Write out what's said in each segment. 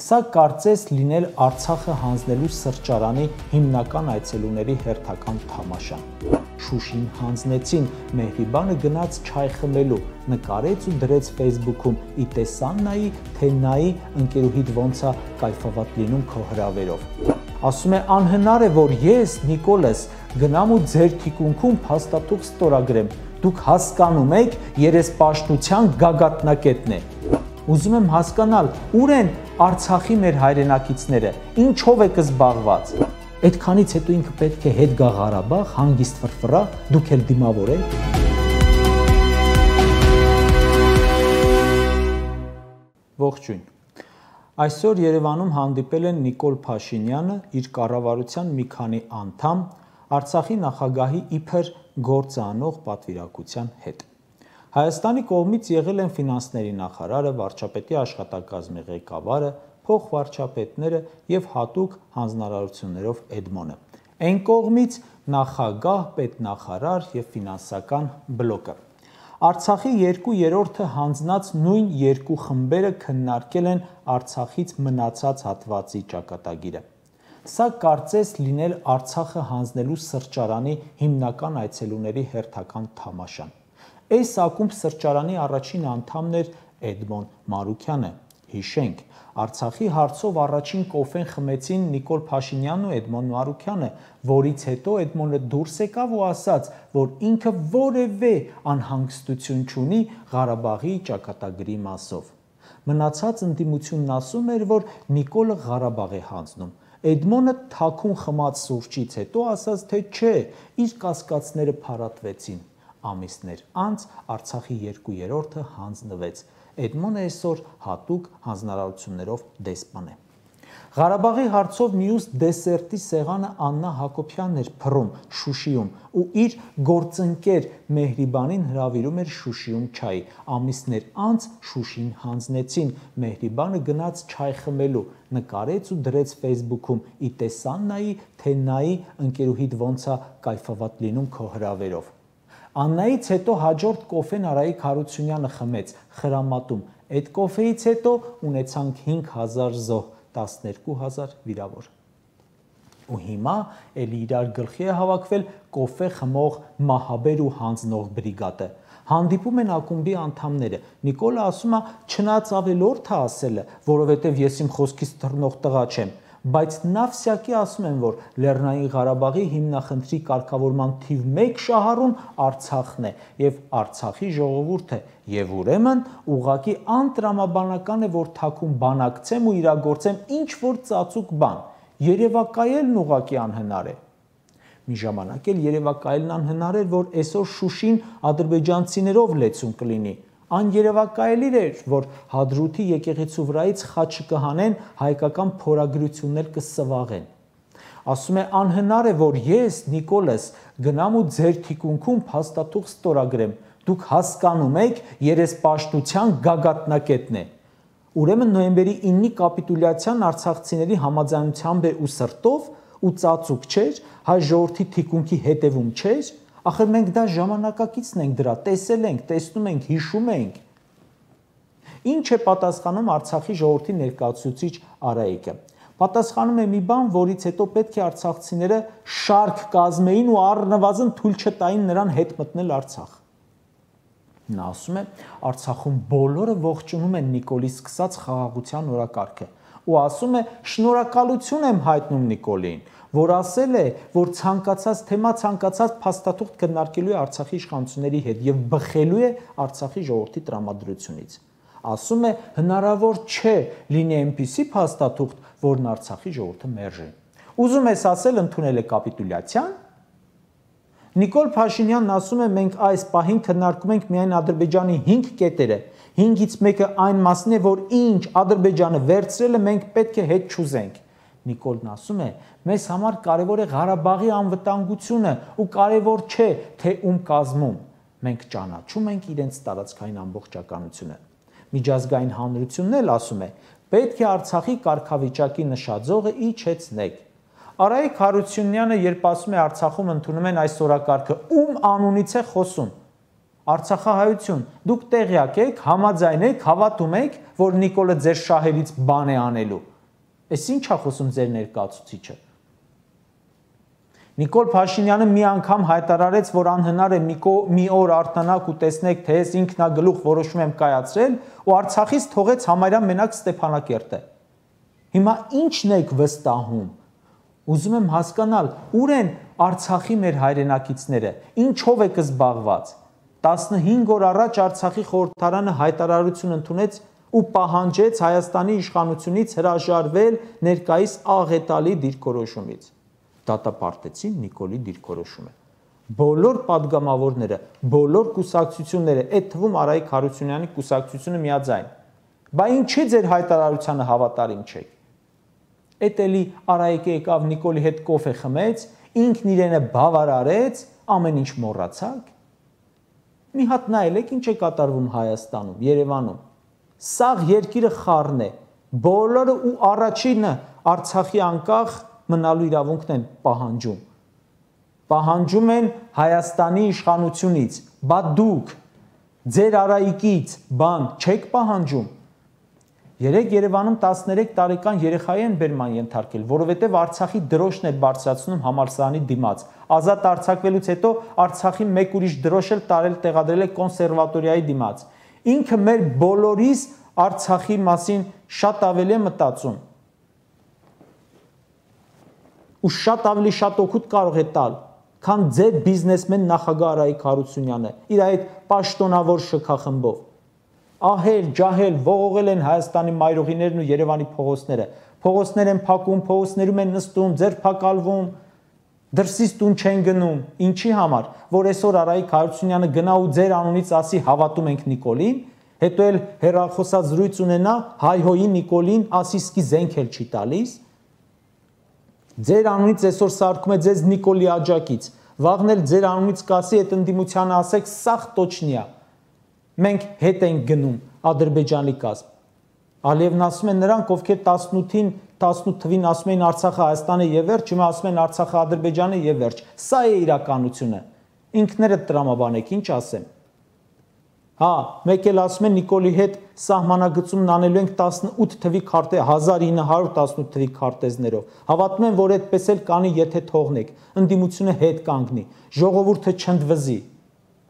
Սա կարծես լինել Արցախը հանձնելու սրճարանի հիմնական այցելուների հերթական թամաշան։ Շուշին հանձնեցին, Մեհրիբանը գնաց չայ խմելու, նկարեց ու դրեց Facebook-ում՝ ի տեսան նայի, թե նայի ընկերուհիդ ոնց է կայֆավատ լինում քո հրավերով։ Ասում է անհնար է, որ ես, Նիկոլս, գնամ ու ձեր թիկունքում փաստաթուղթ ստորագրեմ։ Դուք հասկանում եք, երեսպաշտության գագաթնակետն է։ Ուզում եմ հասկանալ, ուր են Արցախի մեր հայրենակիցները, ինչով եք զբաղված։ Այդքանից հետո ինքը պետք է հետ գա Ղարաբաղ, հանգիստ ֆրֆռա, դուք էլ դիմավոր եք։ Ողջույն։ Այսօր Երևանում հանդիպել են Նիկոլ Փաշինյանը, իր կառավարության մի քանի անդամ, Արցախի նախագահի իբր գործ անող պատվիրակության հետ։ Հայաստանի կողմից եղել են ֆինանսների նախարարը, վարչապետի աշխատակազմի ղեկավարը, փոխվարչապետները եւ հատուկ հանձնարարություններով Էդմոնը։ Այն կողմից նախագահ, պետնախարար եւ ֆինանսական բլոկը։ Արցախի 2/3-ը հանձնած նույն երկու խմբերը քննարկել են Արցախից մնացած հատվածի ճակատագիրը։ Սա կարծես լինել Արցախը հանձնելու սրճարանի հիմնական այցելուների հերթական թամաշան։ Այս ակումբ սրճարանի առաջին անդամն էր Էդմոն Մարուքյանը։ Հիշենք, Արցախի հարցով առաջին կոֆեն խմեցին Նիկոլ Փաշինյանն ու Էդմոն Մարուքյանը, որից հետո Էդմոնը դուրս եկավ ու ասաց, որ ինքը որևէ անհանգստություն չունի Ղարաբաղի ճակատագրի մասով։ Մնացած ընդդիմությունն ասում էր, որ Նիկոլը Ղարաբաղ է հանձնում։ Էդմոնը թաքուն խմած սուրճից հետո ասաց, թե չէ, իր կասկածները փարատվեցին։ Ամիսներ անց Արցախի 2/3-ը հանձնվեց։ Էդմոնը այսօր հատուկ հանձնարարություններով դեսպան է։ Ղարաբաղի հարցով մյուս դեսերտի սեղանը Աննա Հակոբյանն էր փռում Շուշիում ու իր գործընկեր Մեհրիբանին հրավիրում էր Շուշիում չայ։ Ամիսներ անց Շուշին հանձնեցին, Մեհրիբանը գնաց չայ խմելու, նկարեց ու դրեց Facebook-ում՝ ի տեսան նայի, թե նայի ընկերուհիդ ոնց է կայֆավատ լինում քո հրավերով։ Աննայից հետո հաջորդ կոֆեն Արայիկ Հարությունյանը խմեց Խրամատում։ Այդ կոֆեից հետո ունեցանք 5000 զոհ, 12000 վիրավոր։ Ու հիմա էլի իրար գլխի է հավաքվել կոֆե խմող մահաբեր ու հանձնող բրիգադը։ Հանդիպում են ակումբի անդամները։ Նիկոլը ասում է, չնայած ավելորդ է ասելը, որովհետև ես իմ խոսքից թռնող տղա չեմ, բայց նավսյակի ասում են, որ Լեռնային Ղարաբաղի հիմնախնդրի կարգավորման թիվ 1 շահառուն Արցախն է եւ Արցախի ժողովուրդը, եւ ուրեմն ուղղակի անտրամաբանական է, որ թաքուն բանակցեմ ու իրագործեմ ինչ որ ծածուկ բան։ Երևակայելն ուղղակի անհնար է։ Մի ժամանակ էլ երևակայելն անհնար էր, որ այսօր Շուշին ադրբեջանցիներով լեցուն կլինի։ Աներևակայելի էր, որ Հադրութի եկեղեցու վրայից խաչը կհանեն, հայկական փորագրություններ կսվաղեն։ Ասում է անհնար է, որ ես, Նիկոլս, գնամ ու ձեր թիկունքում փաստաթուղթ ստորագրեմ։ Դուք հասկանում եք, երեսպաշտության գագաթնակետն է։ Ուրեմն նոյեմբերի 9-ի կապիտուլյացիան արցախցիների համաձայնությամբ է ու սրտով ու ծածուկ չէր, հայ ժողովրդի թիկունքի հետևում չէր։ Ախր մենք դա ժամանակակիցն ենք դրա, տեսել ենք, տեսնում ենք, հիշում ենք։ Ինչ է պատասխանում Արցախի ժողովրդի ներկայացուցիչ Արայիկը։ Պատասխանում է մի բան, որից հետո պետք է արցախցիները շարք կազմեին ու առնվազն թույլ չտային նրան հետ մտնել Արցախ։ Նա ասում է, Արցախում բոլորը ողջունում են Նիկոլի սկսած խաղաղության օրակարգը ու ասում է, շնորհակալություն եմ հայտնում Նիկոլին, որ ասել է, որ ցանկացած թեմա, ցանկացած փաստաթուղթ քննարկելու է Արցախի իշխանությունների հետ եւ բխելու է Արցախի ժողովրդի տրամադրությունից։ Ասում է, հնարավոր չէ լինի այնպիսի փաստաթուղթ, որն Արցախի ժողովուրդը մերժի։ Ուզում ես ասել, ընդունել է կապիտուլյացիան։ Նիկոլ Փաշինյանն ասում է, մենք այս պահին քննարկում ենք միայն Ադրբեջանի 5 կետերը։ 5-ից մեկը այն մասն է, որ ինչ Ադրբեջանը վերցրել է, մենք պետք է հետ չուզենք։ Նիկոլն ասում է, մեզ համար կարևոր է Ղարաբաղի անվտանգությունը ու կարևոր չէ, թե ում կազմում։ Մենք ճանաչում ենք իրենց տարածքային ամբողջականությունը։ Միջազգային հանրությունն էլ ասում է, պետք է Արցախի կարգավիճակի նշաձողը իջեցնեք։ Արայիկ Հարությունյանը, երբ ասում է Արցախում ընդունում են այս օրակարգը, ում անունից է խոսում։ Արցախահայություն, դուք տեղյակ եք, համաձայն եք, հավատում եք, որ Նիկոլը ձեր շահերից բան է անելու։ Էս ինչ է խոսում ձեր ներկայացուցիչը։ Նիկոլ Փաշինյանը մի անգամ հայտարարեց, որ անհնար է մի օր արթնանաք ու տեսնեք, թե ես ինքնագլուխ որոշում եմ կայացրել, ու Արցախից թողեց համարյա մենակ Ստեփանակերտը։ Հիմա ի՞նչն եք վստահում։ Ուզում եմ հասկանալ, ուր են Արցախի մեր հայրենակիցները, ինչով եք զբաղված։ 15 օր առաջ Արցախի խորհրդարանը հայտարարություն ընդունեց ու պահանջեց Հայաստանի իշխանությունից հրաժարվել ներկայիս աղետալի դիրքորոշումից։ Դատապարտեցին Նիկոլի դիրքորոշումը։ Բոլոր падգամավորները, բոլոր կուսակցությունները, այդ թվում Արայիկ Հարությունյանի կուսակցությունը միաձայն։ Բա ինչի ձեր հայտարարությանը հավատարիմ չեք։ Էդ էլի Արայիկը եկավ Նիկոլի հետ կոֆե խմեց, ինքն իրենը բավարարեց, ամեն ինչ մոռացաք։ Մի հատ նայեք ինչ է կատարվում Հայաստանում, Երևանում։ Սաղ երկիրը խառն է, բոլորը ու առաջինը Արցախի անկախ մնալու իրավունքն են պահանջում։ Պահանջում են Հայաստանի իշխանությունից, բա դուք ձեր Արայիկից բան չեք պահանջում։ Երեք Երևանում 13 տարեկան երեխայի են բերման ենթարկել, որովհետև Արցախի դրոշն էր բարձրացնում համալսարանի դիմաց։ Ազատ արձակվելուց հետո Արցախի մեկ ուրիշ դրոշ էլ տեղադրել է կոնսերվատորիայի դիմաց։ Ինքը մեր բոլորիս Արցախի մասին շատ ավելի է մտածում։ Ու շատ ավելի շատ օգուտ կարող է տալ, քան ձեր բիզնեսմեն նախագահ Արայիկ Հարությունյանը, իր այդ պաշտոնավոր շքախմբով։ Ահել, ջահել, ողողել են Հայաստանի մայրուղիներն ու Երևանի փողոցները։ Փողոցներ են փակում, փողոցներում են նստում, ձերբակալվում, դրսից տուն չեն գնում։ Ինչի համար, որ այսօր Արայիկ Հարությունյանը գնա ու ձեր անունից ասի հավատում ենք Նիկոլին, հետո էլ հեռախոսազրույց ունենա, հայհոյի Նիկոլին, ասի սկի զենք էլ չի տալիս։ Ձեր անունից այսօր սարքում է ձեզ Նիկոլի աջակից, վաղն էլ ձեր անունից կասի այդ ընդդիմությանը ասեք սաղ տոչնիա։ Մենք հետ ենք գնում Ադրբեջանի կազմ։ Ալիևն ասում է նրանք, ովքեր 18 թվին ասում էին Արցախը Հայաստանը եւ վերջ, հիմա ասում են Արցախը Ադրբեջանը եւ վերջ։ Սա է իրականությունը։ Ինքներդ տրամաբանեք, ինչ ասեմ։ Հա, մեկ էլ ասում են Նիկոլի հետ սահմանագծումն անելու ենք 18 թվի քարտեզ 1918 թվի քարտեզներով։ Հավատում եմ, որ այդպես էլ կանի, եթե թողնեք, ընդդիմությունը հետ կանգնի, ժողովուրդը չընդվզի։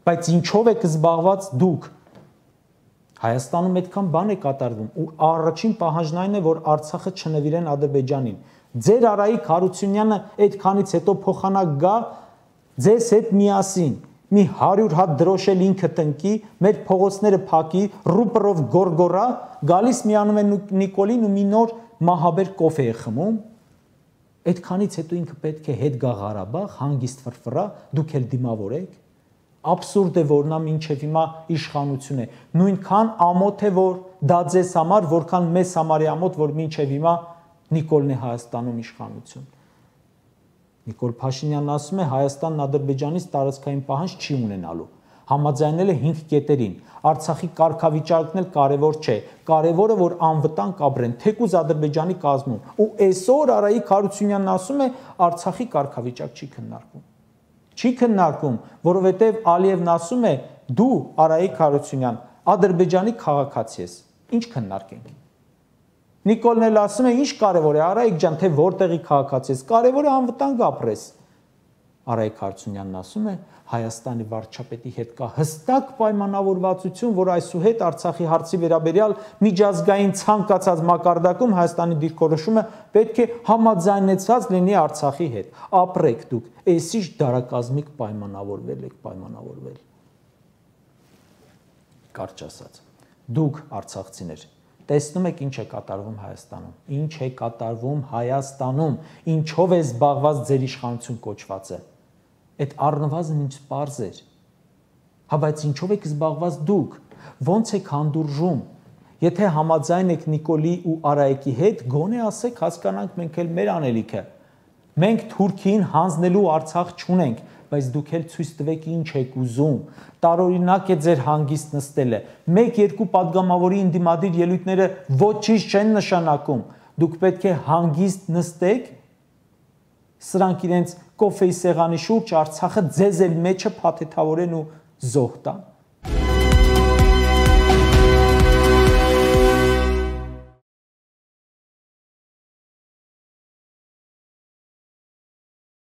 Բայց ինչով եք զբաղված դուք։ Հայաստանում այդքան բան է կատարվում ու առաջին պահանջն այն է, որ Արցախը չնվիրեն Ադրբեջանին։ Ձեր Արայիկ Հարությունյանը այդքանից հետո փոխանակ գա ձեզ հետ միասին։ Մի 100 հատ դրոշել ինքը տնկի, մեր փողոցները փակի, ռուպերով գորգորա, գալիս միանում են Նիկոլին ու մի նոր մահաբեր կոֆե է խմում։ Այդքանից հետո ինքը պետք է հետ գա Ղարաբաղ, հանգիստ ֆրֆրա, դուք էլ դիմավորեք։ Աբսուրդ է, որ նա մինչև հիմա իշխանություն է։ Նույնքան ամոթ է, որ դա ձեզ համար, որքան մեզ համար է ամոթ, որ մինչև հիմա Նիկոլն է Հայաստանում իշխանություն։ Նիկոլ Փաշինյանն ասում է Հայաստանն Ադրբեջանից տարածքային պահանջ չի ունենալու։ Համաձայնել է 5 կետերին։ Արցախի կարգավիճակն էլ կարևոր չէ։ Կարևորը որ անվտանգ ապրեն, թեկուզ Ադրբեջանի կազմում։ Ու այսօր Արայիկ Հարությունյանն ասում է Արցախի կարգավիճակ չի քննարկվում։ Չի քննարկում, որովհետև Ալիևն ասում է դու Արայիկ Հարությունյան Ադրբեջանի քաղաքացի ես։ Ինչ քննարկենք։ Նիկոլն էլ ասում է ինչ կարևոր է Արայիկ ջան, թե որտեղի քաղաքացի ես, կարևոր է անվտանգ ապրես։ Արայիկ Հարությունյանն ասում է Հայաստանի վարչապետի հետ կա հստակ պայմանավորվածություն, որ այսուհետ Արցախի հարցի վերաբերյալ միջազգային ցանկացած մակարդակում Հայաստանի դիրքորոշումը պետք է համաձայնեցված լինի Արցախի հետ։ Ապրեք դուք, այսիշ դարակազմիկ պայմանավորվել եք, պայմանավորվել։ Կարճ ասած, դուք արցախցիներ տեսնում եք ինչ է կատարվում Հայաստանում, ինչ է կատարվում Հայաստանում, ինչով է զբաղված ձեր իշխանություն կոչվածը։ Այդ առնվազն ինչ պարզ էր։ Հա բայց ինչով եք զբաղված դուք, ոնց եք հանդուրժում։ Եթե համաձայն եք Նիկոլի ու Արայիկի հետ, գոնե ասեք հասկանանք մենք էլ մեր անելիքը։ Մենք Թուրքիին հանձնելու Արցախ չունենք, բայց դուք էլ ցույց տվեք ինչ եք ուզում։ Տարօրինակ է ձեր հանգիստ նստելը։ 1-2 падգամավորի ինդիմադիր ելույթները ոչինչ չեն նշանակում։ Դուք պետք է հանգիստ նստեք, սրանք իրենց կոֆեի սեղանի շուրջ Արցախը ձեզ էլ մեջը փաթեթավորեն ու զոհ տան։ Thank you.